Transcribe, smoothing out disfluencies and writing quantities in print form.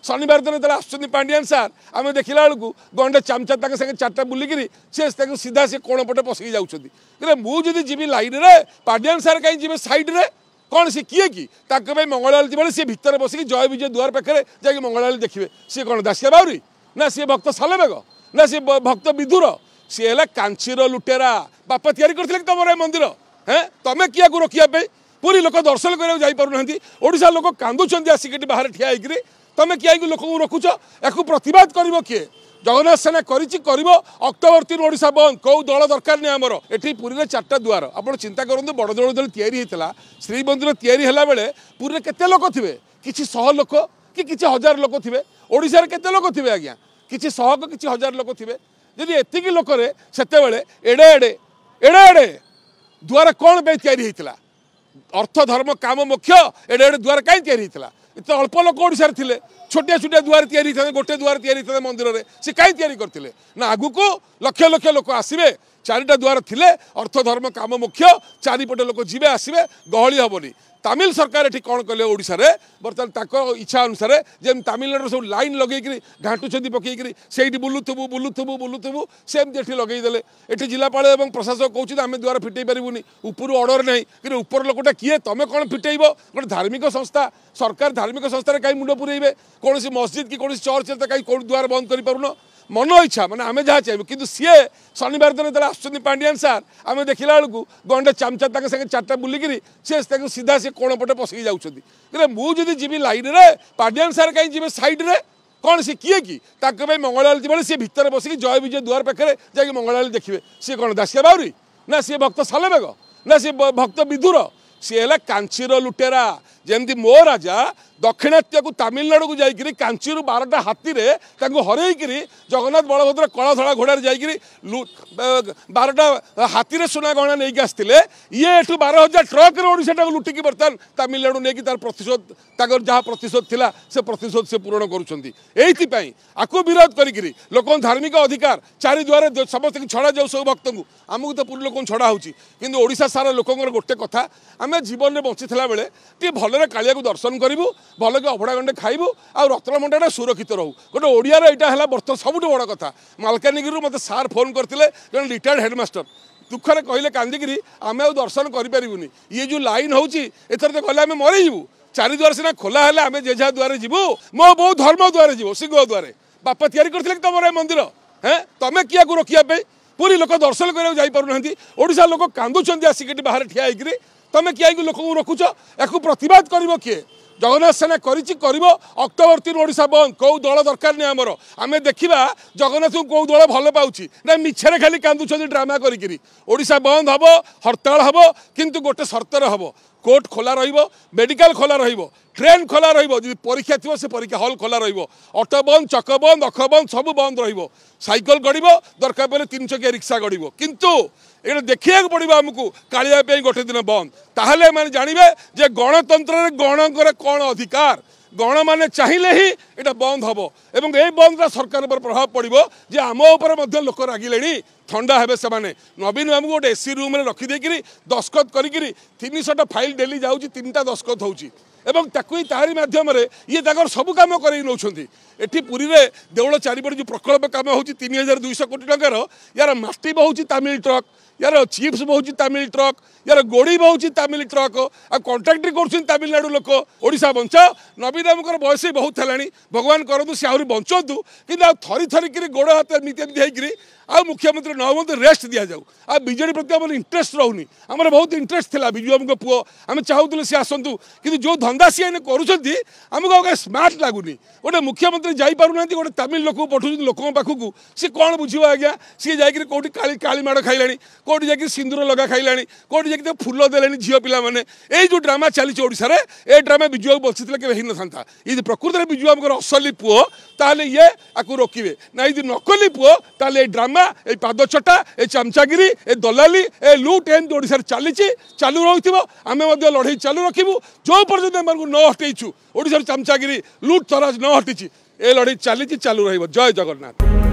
ଶନିବାର ଦିନ ଯେତେବେଳେ ଆସୁଛନ୍ତି ପାଣ୍ଡିଆନ ସାର୍, ଆମେ ଦେଖିଲା ବେଳକୁ ଗଣ୍ଡେ ଚାମଚା ତାଙ୍କ ସାଙ୍ଗେ ଚାରିଟା ବୁଲିକିରି ସେ ତାଙ୍କୁ ସିଧା ସେ କୋଣ ପଟେ ପଶିକି ଯାଉଛନ୍ତି। ମୁଁ ଯଦି ଯିବି ଲାଇନ୍ରେ, ପାଣ୍ଡିଆନ ସାର୍ କାହିଁ ଯିବେ ସାଇଡ଼୍ରେ? କ'ଣ ସେ କିଏ କି? ତାଙ୍କ ପାଇଁ ମଙ୍ଗଳାଆଳତି ବେଳେ ସିଏ ଭିତରେ ବସିକି ଜୟ ବିଜୟ ଦୁଆର ପାଖରେ ଯାଇକି ମଙ୍ଗଳାଆଳତି ଦେଖିବେ। ସିଏ କ'ଣ ଦାସିଆ ବାଉରୀ ନା ସିଏ ଭକ୍ତ ସାଲବେଗ ନା ସିଏ ଭକ୍ତ ବିଦୁର? ସିଏ ହେଲା କାଞ୍ଚିର ଲୁଟେରା। ବାପା ତିଆରି କରିଥିଲେ କି ତମର ଏ ମନ୍ଦିର? ହେଁ, ତମେ କିଆକୁ ରୋକିବା ପାଇଁ? ପୁରୀ ଲୋକ ଦର୍ଶନ କରିବାକୁ ଯାଇପାରୁନାହାନ୍ତି, ଓଡ଼ିଶା ଲୋକ କାନ୍ଦୁଛନ୍ତି ଆସିକି ଏଠି ବାହାରେ ଠିଆ ହେଇକିରି, ତମେ କିଆକୁ ଲୋକଙ୍କୁ ରଖୁଛ? ୟାକୁ ପ୍ରତିବାଦ କରିବ କିଏ? ଜଗନ୍ନାଥ ସେନା କରିଛି, କରିବ। ଅକ୍ଟୋବର 3 ଓଡ଼ିଶା ବନ୍ଦ, କେଉଁ ଦଳ ଦରକାର ନାହିଁ ଆମର। ଏଠି ପୁରୀରେ 4ଟା ଦୁଆର। ଆପଣ ଚିନ୍ତା କରନ୍ତୁ, ବଡ଼ ଦେଉଳ ଯେତେବେଳେ ତିଆରି ହେଇଥିଲା, ଶ୍ରୀମନ୍ଦିର ତିଆରି ହେଲା ବେଳେ ପୁରୀରେ କେତେ ଲୋକ ଥିବେ? କିଛି ଶହ ଲୋକ କି କିଛି ହଜାର ଲୋକ ଥିବେ। ଓଡ଼ିଶାରେ କେତେ ଲୋକ ଥିବେ ଆଜ୍ଞା? କିଛି ଶହ କିଛି ହଜାର ଲୋକ ଥିବେ। ଯଦି ଏତିକି ଲୋକରେ ସେତେବେଳେ ଏଡ଼େ ଏଡ଼େ ଏଡ଼େ ଏଡ଼େ ଦୁଆର କ'ଣ ପାଇଁ ତିଆରି ହେଇଥିଲା? ଅର୍ଥ ଧର୍ମ କାମ ମୋକ୍ଷ, ଏଡ଼େ ଏଡ଼େ ଦୁଆର କାହିଁ ତିଆରି ହେଇଥିଲା? ଏତେ ଅଳ୍ପ ଲୋକ ଓଡ଼ିଶାରେ ଥିଲେ, ଛୋଟିଆ ଛୋଟିଆ ଦୁଆର ତିଆରି ହେଇଥାନ୍ତେ, ଗୋଟେ ଦୁଆର ତିଆରି ହେଇଥାନ୍ତା ମନ୍ଦିରରେ, ସେ କାହିଁ ତିଆରି କରିଥିଲେ? ନା ଆଗକୁ ଲକ୍ଷ ଲକ୍ଷ ଲୋକ ଆସିବେ, 4ଟା ଦୁଆର ଥିଲେ ଅର୍ଥ ଧର୍ମ କାମ ମୋକ୍ଷ, ଚାରିପଟେ ଲୋକ ଯିବେ ଆସିବେ, ଗହଳି ହେବନି। ତାମିଲ ସରକାର ଏଠି କ'ଣ କଲେ ଓଡ଼ିଶାରେ? ବର୍ତ୍ତମାନ ତାଙ୍କ ଇଚ୍ଛା ଅନୁସାରେ ଯେମିତି ତାମିଲନାଡ଼ୁର ସବୁ ଲାଇନ୍ ଲଗେଇକିରି ଘାଣ୍ଟୁଛନ୍ତି ପକେଇକିରି, ସେଇଠି ବୁଲୁଥିବୁ ବୁଲୁଥିବୁ ବୁଲୁଥିବୁ, ସେମିତି ଏଠି ଲଗେଇଦେଲେ। ଏଠି ଜିଲ୍ଲାପାଳ ଏବଂ ପ୍ରଶାସକ କହୁଛନ୍ତି ଆମେ ଦୁଆର ଫିଟେଇ ପାରିବୁନି, ଉପରୁ ଅର୍ଡ଼ର ନାହିଁ। କିନ୍ତୁ ଉପର ଲୋକଟା କିଏ? ତମେ କ'ଣ ଫିଟେଇବ? ଗୋଟେ ଧାର୍ମିକ ସଂସ୍ଥା, ସରକାର ଧାର୍ମିକ ସଂସ୍ଥାରେ କାହିଁ ମୁଣ୍ଡ ପୁରେଇବେ? କୌଣସି ମସଜିଦ୍ କି କୌଣସି ଚର୍ଚ୍ଚରେ ତ କାହିଁ କୋଉଠି ଦୁଆର ବନ୍ଦ କରିପାରୁନ? ମନ ଇଚ୍ଛା, ମାନେ ଆମେ ଯାହା ଚାହିଁବୁ। କିନ୍ତୁ ସିଏ ଶନିବାର ଦିନ ଯେତେବେଳେ ଆସୁଛନ୍ତି ପାଣ୍ଡିଆନ ସାର୍, ଆମେ ଦେଖିଲା ବେଳକୁ ଗଣ୍ଡେ ଚାମଚା ତାଙ୍କ ସାଙ୍ଗେ ଚାରିଟା ବୁଲିକିରି ସେ ତାଙ୍କୁ ସିଧା ସେ କୋଣ ପଟେ ପଶିକି ଯାଉଛନ୍ତି। ମୁଁ ଯଦି ଯିବି ଲାଇନ୍ରେ, ପାଣ୍ଡିଆନ ସାର୍ କାହିଁ ଯିବେ ସାଇଡ଼୍ରେ? କ'ଣ ସେ କିଏ କି? ତାଙ୍କ ପାଇଁ ମଙ୍ଗଳାଆଳତି ବେଳେ ସିଏ ଭିତରେ ବସିକି ଜୟ ବିଜୟ ଦୁଆର ପାଖରେ ଯାଇକି ମଙ୍ଗଳାଆଳତି ଦେଖିବେ। ସିଏ କ'ଣ ଦାସିଆ ବାଉରୀ ନା ସିଏ ଭକ୍ତ ସାଲବେଗ ନା ସିଏ ଭକ୍ତ ବିଦୁର? ସିଏ ହେଲା କାଞ୍ଚିର ଲୁଟେରା। ଯେମିତି ମୋ ରାଜା ଦକ୍ଷିଣାତ୍ୟକୁ ତାମିଲନାଡ଼ୁକୁ ଯାଇକିରି କାଞ୍ଚିରୁ 12ଟା ହାତୀରେ ତାଙ୍କୁ ହରେଇକିରି ଜଗନ୍ନାଥ ବଳଭଦ୍ର କଳା ଧଳା ଘୋଡ଼ାରେ ଯାଇକିରି 12ଟା ହାତୀରେ ସୁନା ଗହଣା ନେଇକି ଆସିଥିଲେ, ଇଏ ଏଠୁ 12,000 ଟ୍ରକରେ ଓଡ଼ିଶାଟାକୁ ଲୁଟିକି ବର୍ତ୍ତମାନ ତାମିଲନାଡ଼ୁ ନେଇକି ତାର ପ୍ରତିଶୋଧ, ତାଙ୍କର ଯାହା ପ୍ରତିଶୋଧ ଥିଲା ସେ ପ୍ରତିଶୋଧ ସେ ପୂରଣ କରୁଛନ୍ତି। ଏଇଥିପାଇଁ ଆକୁ ବିରୋଧ କରିକିରି ଲୋକଙ୍କ ଧାର୍ମିକ ଅଧିକାର ଚାରିଦୁଆରେ ସମସ୍ତଙ୍କୁ ଛଡ଼ାଯାଉ, ସବୁ ଭକ୍ତଙ୍କୁ। ଆମକୁ ତ ପୁରୀ ଲୋକଙ୍କୁ ଛଡ଼ା ହେଉଛି, କିନ୍ତୁ ଓଡ଼ିଶା ସାରା ଲୋକଙ୍କର ଗୋଟେ କଥା, ଆମେ ଜୀବନରେ ବଞ୍ଚିଥିଲା ବେଳେ ଟିକେ ଭଲରେ କାଳିଆକୁ ଦର୍ଶନ କରିବୁ, ଭଲକି ଅଭଡ଼ା ଗଣ୍ଡେ ଖାଇବୁ, ଆଉ ରତ୍ନଭଣ୍ଡାରଟା ସୁରକ୍ଷିତ ରହୁ। ଗୋଟେ ଓଡ଼ିଆର ଏଇଟା ହେଲା ବର୍ତ୍ତମାନ ସବୁଠୁ ବଡ଼ କଥା। ମାଲକାନଗିରିରୁ ମୋତେ ସାର୍ ଫୋନ୍ କରିଥିଲେ, ଜଣେ ରିଟାୟାର୍ଡ଼ ହେଡ଼ମାଷ୍ଟର, ଦୁଃଖରେ କହିଲେ କାନ୍ଦିକିରି, ଆମେ ଆଉ ଦର୍ଶନ କରିପାରିବୁନି, ଇଏ ଯେଉଁ ଲାଇନ୍ ହେଉଛି ଏଥର ତ ଗଲେ ଆମେ ମରିଯିବୁ। ଚାରିଦୁଆର ସିନା ଖୋଲା ହେଲେ ଆମେ ଯେ ଯାହା ଦୁଆରେ ଯିବୁ। ମୋ ବୋଉ ଧର୍ମ ଦୁଆରେ ଯିବ, ସିଂହ ଦୁଆରେ। ବାପା ତିଆରି କରିଥିଲେ କି ତମର ଏ ମନ୍ଦିର? ହେଁ, ତମେ କିଆକୁ ରୋକିବା ପାଇଁ? ପୁରୀ ଲୋକ ଦର୍ଶନ କରିବାକୁ ଯାଇପାରୁନାହାନ୍ତି, ଓଡ଼ିଶା ଲୋକ କାନ୍ଦୁଛନ୍ତି ଆସିକି ଏଠି ବାହାରେ ଠିଆ ହେଇକିରି, ତମେ କିଆକୁ ଲୋକଙ୍କୁ ରଖୁଛ? ୟାକୁ ପ୍ରତିବାଦ କରିବ କିଏ? ଜଗନ୍ନାଥ ସେନା କରିଛି, କରିବ। ଅକ୍ଟୋବର 3 ଓଡ଼ିଶା ବନ୍ଦ, କେଉଁ ଦଳ ଦରକାର ନାହିଁ ଆମର। ଆମେ ଦେଖିବା ଜଗନ୍ନାଥଙ୍କୁ କେଉଁ ଦଳ ଭଲ ପାଉଛି ନା ମିଛରେ ଖାଲି କାନ୍ଦୁଛନ୍ତି ଡ୍ରାମା କରିକିରି। ଓଡ଼ିଶା ବନ୍ଦ ହେବ, ହରତାଳ ହେବ, କିନ୍ତୁ ଗୋଟେ ସର୍ତ୍ତରେ ହେବ। କୋର୍ଟ ଖୋଲା ରହିବ, ମେଡ଼ିକାଲ ଖୋଲା ରହିବ, ଟ୍ରେନ୍ ଖୋଲା ରହିବ, ଯଦି ପରୀକ୍ଷା ଥିବ ସେ ପରୀକ୍ଷା ହଲ୍ ଖୋଲା ରହିବ, ଅଟୋ ବନ୍ଦ, ଚକ ବନ୍ଦ, ଅଖ ବନ୍ଦ, ସବୁ ବନ୍ଦ ରହିବ। ସାଇକେଲ ଗଡ଼ିବ, ଦରକାର ପଡ଼ିଲେ 3 ଚକିଆ ରିକ୍ସା ଗଡ଼ିବ, କିନ୍ତୁ ଏଇଟା ଦେଖିବାକୁ ପଡ଼ିବ ଆମକୁ କାଳିଆ ପାଇଁ ଗୋଟେ ଦିନ ବନ୍ଦ। ତାହେଲେ ଏମାନେ ଜାଣିବେ ଯେ ଗଣତନ୍ତ୍ରରେ ଗଣଙ୍କର କ'ଣ ଅଧିକାର। ଗଣମାନେ ଚାହିଁଲେ ହିଁ ଏଇଟା ବନ୍ଦ ହେବ, ଏବଂ ଏଇ ବନ୍ଦଟା ସରକାର ଉପରେ ପ୍ରଭାବ ପଡ଼ିବ ଯେ ଆମ ଉପରେ ମଧ୍ୟ ଲୋକ ରାଗିଲେଣି, ଥଣ୍ଡା ହେବେ ସେମାନେ। ନବୀନ ବାବୁଙ୍କୁ ଗୋଟେ ଏସି ରୁମ୍ରେ ରଖିଦେଇକିରି ଦସ୍ତଖତ କରିକିରି 300ଟା ଫାଇଲ୍ ଡେଲି ଯାଉଛି, 3ଟା ଦସ୍ତଖତ ହେଉଛି, ଏବଂ ତାକୁ ହିଁ ତାହାରି ମାଧ୍ୟମରେ ଇଏ ତାଙ୍କର ସବୁ କାମ କରେଇ ନେଉଛନ୍ତି। ଏଠି ପୁରୀରେ ଦେଉଳ ଚାରିପଟେ ଯେଉଁ ପ୍ରକଳ୍ପ କାମ ହେଉଛି 3,200 କୋଟି ଟଙ୍କାର, ୟାର ମାଟି ବହୁଛି ତାମିଲ ଟ୍ରକ୍, ୟାର ଚିପ୍ସ ବହୁଛି ତାମିଲ ଟ୍ରକ୍, ୟାର ଗୋଡ଼ି ବହୁଛି ତାମିଲ ଟ୍ରକ୍, ଆଉ କଣ୍ଟ୍ରାକ୍ଟରି କରୁଛନ୍ତି ତାମିଲନାଡ଼ୁ ଲୋକ। ଓଡ଼ିଶା ବଞ୍ଚାଅ। ନବୀନ ବାବୁଙ୍କର ବୟସ ବି ବହୁତ ହେଲାଣି, ଭଗବାନ କରନ୍ତୁ ସେ ଆହୁରି ବଞ୍ଚନ୍ତୁ, କିନ୍ତୁ ଆଉ ଥରି ଥରିକିରି ଗୋଡ଼ ହାତ ଏମିତି ଏମିତି ହେଇକିରି ଆଉ ମୁଖ୍ୟମନ୍ତ୍ରୀ ନ ହୁଅନ୍ତୁ, ରେଷ୍ଟ ଦିଆଯାଉ। ଆଉ ବିଜେଡ଼ି ପ୍ରତି ଆମର ଇଣ୍ଟରେଷ୍ଟ ରହୁନି। ଆମର ବହୁତ ଇଣ୍ଟରେଷ୍ଟ ଥିଲା ବିଜୁ ବାବୁଙ୍କ ପୁଅ, ଆମେ ଚାହୁଁଥିଲୁ ସେ ଆସନ୍ତୁ, କିନ୍ତୁ ଯେଉଁ ଧନ୍ଦା ସିଏ ଏଇନେ କରୁଛନ୍ତି ଆମକୁ ଆଉ କାଇଁ ସ୍ମାର୍ଟ ଲାଗୁନି। ଗୋଟେ ମୁଖ୍ୟମନ୍ତ୍ରୀ ଯାଇପାରୁନାହାନ୍ତି, ଗୋଟେ ତାମିଲ ଲୋକକୁ ପଠାଉଛନ୍ତି ଲୋକଙ୍କ ପାଖକୁ, ସିଏ କ'ଣ ବୁଝିବ ଆଜ୍ଞା? ସିଏ ଯାଇକିରି କେଉଁଠି କାଳି କାଳି ମାଡ଼ ଖାଇଲାଣି, କେଉଁଠି ଯାଇକି ସିନ୍ଦୁର ଲଗା ଖାଇଲାଣି, କେଉଁଠି ଯାଇକି ତାକୁ ଫୁଲ ଦେଲେଣି ଝିଅ ପିଲାମାନେ। ଏଇ ଯେଉଁ ଡ୍ରାମା ଚାଲିଛି ଓଡ଼ିଶାରେ, ଏ ଡ୍ରାମା ବିଜୁ ବାବୁ ବଞ୍ଚିଥିଲେ କେବେ ହେଇନଥାନ୍ତା। ଯଦି ପ୍ରକୃତରେ ବିଜୁ ବାବୁଙ୍କର ଅସଲି ପୁଅ ତାହେଲେ ଇଏ ଆକୁ ରୋକିବେ ନା, ଯଦି ନକଲି ପୁଅ ତାହେଲେ ଏଇ ଡ୍ରାମା, ଏଇ ପାଦ ଚଟା, ଏ ଚାମଚାଗିରି, ଏ ଦଲାଲି, ଏ ଲୁଟ୍ ଏମିତି ଓଡ଼ିଶାରେ ଚାଲିଛି, ଚାଲୁ ରହୁଥିବ। ଆମେ ମଧ୍ୟ ଲଢ଼େଇ ଚାଲୁ ରଖିବୁ ଯେଉଁ ପର୍ଯ୍ୟନ୍ତ ଏମାନଙ୍କୁ ନ ହଟେଇଛୁ, ଓଡ଼ିଶାର ଚାମଚାଗିରି ଲୁଟ୍ ତରାଜ ନ ହଟିଛି, ଏ ଲଢ଼େଇ ଚାଲିଛି, ଚାଲୁ ରହିବ। ଜୟ ଜଗନ୍ନାଥ।